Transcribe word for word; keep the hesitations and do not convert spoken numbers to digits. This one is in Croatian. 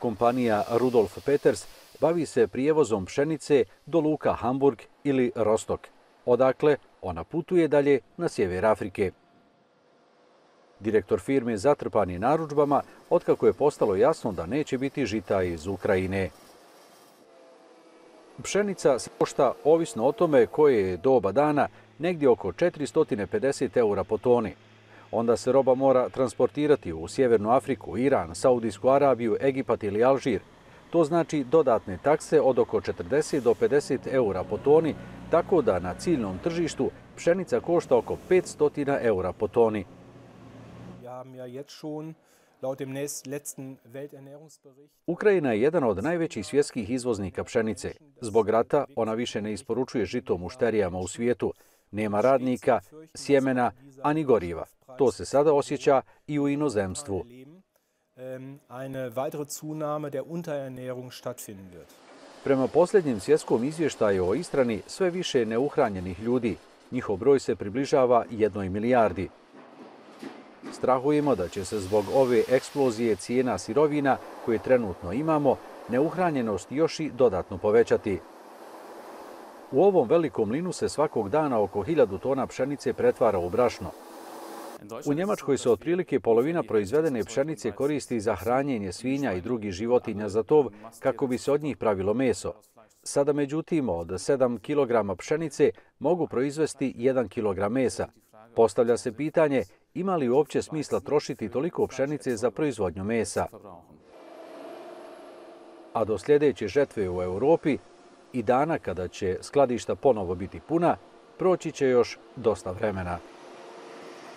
Kompanija Rudolf Peters bavi se prijevozom pšenice do luka Hamburg ili Rostok, odakle ona putuje dalje na sjever Afrike. Direktor firme zatrpan je narudžbama otkako je postalo jasno da neće biti žita iz Ukrajine. Pšenica se košta, ovisno o tome koje je doba dana, negdje oko četiristo pedeset eura po toni. Onda se roba mora transportirati u Sjevernu Afriku, Iran, Saudijsku Arabiju, Egipat ili Alžir. To znači dodatne takse od oko četrdeset do pedeset eura po toni, tako da na ciljnom tržištu pšenica košta oko petsto eura po toni. Ukrajina je jedan od najvećih svjetskih izvoznika pšenice. Zbog rata ona više ne isporučuje žito mušterijama u svijetu. Nema radnika, sjemena, ani goriva. To se sada osjeća i u inozemstvu. Prema posljednjem svjetskom izvještaju o ishrani, sve više neuhranjenih ljudi. Njihov broj se približava jednoj milijardi. Strahujemo da će se zbog ove eksplozije cijena sirovina koje trenutno imamo, neuhranjenost još i dodatno povećati. U ovom velikom mlinu se svakog dana oko hiljadu tona pšenice pretvara u brašno. U Njemačkoj se otprilike polovina proizvedene pšenice koristi za hranjenje svinja i drugih životinja za tov kako bi se od njih pravilo meso. Sada međutim od sedam kilograma pšenice mogu proizvesti jedan kilogram mesa. Postavlja se pitanje ima li uopće smisla trošiti toliko pšenice za proizvodnju mesa. A do sljedeće žetve u Europi i dana kada će skladišta ponovo biti puna, proći će još dosta vremena.